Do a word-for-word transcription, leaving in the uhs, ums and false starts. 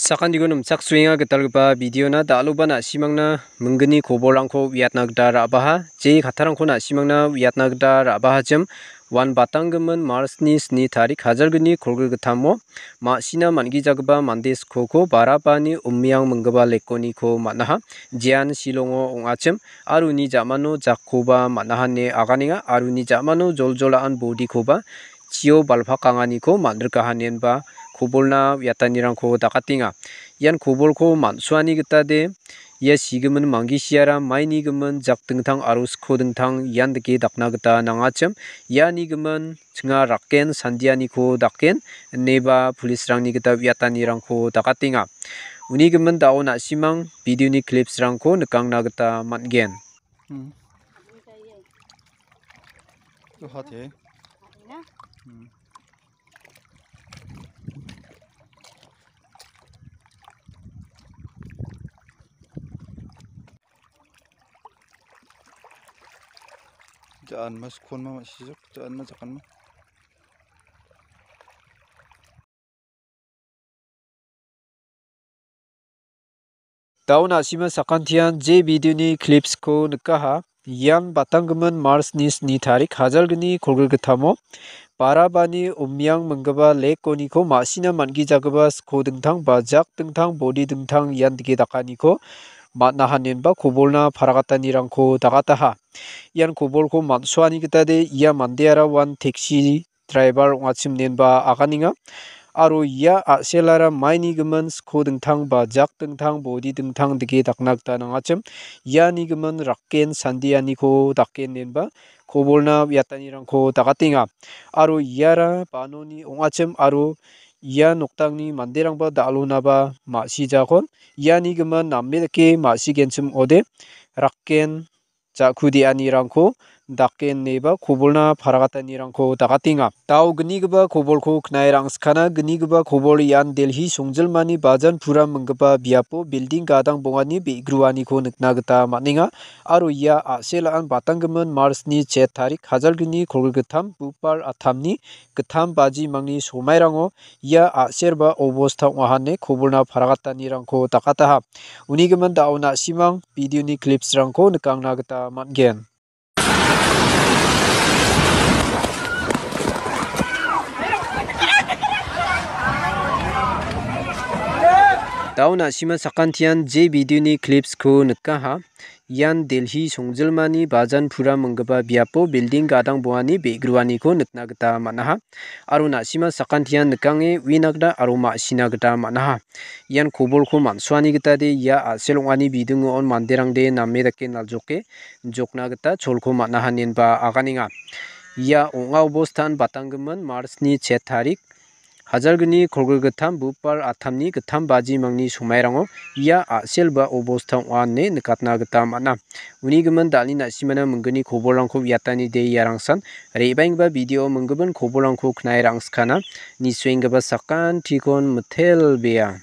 Sakantiko nimchaksoenga gitalgipa videona, dal·oba na·simangna minggni kobolrangko uiatna gita ra·baha. Je kattarangko na·simangna uiatna gita ra·bahachim, uan batanggimin Marchni sni tarik hajalgni kolgrigittamo ma·sina man·gijagipa mande skoko Barabani Umiang minggipa lekoniko man·aha. Jean Shillongo ong·achim, aro uni ja·mano jakkoba man·aha ine aganenga, aro uni ja·mano joljol a·an bodikoba chio balpakanganiko man·rikaha inenba kobolna uiatanirangko dakatenga. Ian kobolko man·suani gitade ia sigimin manggisiara maini gimin jak dingtang aro sko dingtang ian dike dakna gita nangachim. Iani gimin chinga raken sandianiko daken ineba police-rangni gita uiatanirangko dakatenga. Uni gimin da·o na·simang videoni clips-rangko nikangna gita man·gen. Hmm. Tuha te. Hmm. Ja·an ma skon ma ma·sijok, ja·an ma jakan ma. Da·o na·sima sakantian je videoni clips-ko nikaha. Ian batanggimin Marchni sni tarik hajalgni kolgrigittamo Barabani Umiang minggipa lekoniko ma·sina man·gijagipa sko dingtang ba jak dingtang bodi dingtang ian dike dakaniko man·aha inenba kobolna paragatanirangko dagataha. Ian kobolko man·suani gitade ia mandeara uan taxi driver ong·achim inenba aganenga. Aro ia a·selara maini gimin sko dingtang ba jak dingtang bodi dingtang dike dakna gita nangachim. Iani gimin raken sandianiko daken inenba kobolna uiatanirangko dakatenga. Aro iara banoni ong·achim aro ia noktangni manderangba da·alonaba ma·sijakon. Iani gimin name dake ma·sigenchim ong·ode, raken ja·ku de·anirangko dake ineba kobolna paragatanirangko dakatenga. Da·o gnigipa kobolko knae rangskana. Gnigipa kobol ian Delhi songjilmani Bajan Pura minggipa biapo building gadang bongani be·gruaniko nikna gita man·enga. Aro ia a·selaan batanggimin Marchni chet tarik hajalgni kolgrigittam, Bupar attamni gittam baji mangni somairango ia a·serba obosta ong·aha ine kobolna paragatanirangko dakataha. Uni gimin da·o na·simang videoni clips-rangko nikangna gita man·gen. Da·o na·sima sakantian je videoni clips-ko nikaha. Ian Delhi songjilmani Bajan Pura minggipa biapo building gadang bongani be·gruaniko nikna gita man·aha. Aro na·sima sakantian nikange uina gita aro ma·sina gita man·aha. Ian kobolko man·suani gitade ia a·sel ong·ani bidingo on manderangde name dake naljoke jokna gita cholko man·aha inenba aganenga. Ia ong·a obostan batanggimin Marchni chet tarik hajalgni kolgrigittam Bupar attamni gittam baji mangni somairango ia a·sel ba obosta ong·a ine nikatna gita man·a. Uni gimin da·alni na·simana minggni kobolrangko uiatani de iarangsan re·baenggipa video minggipin kobolrangko knae rangskana. Nisuenggipa sakantikon mitelbea.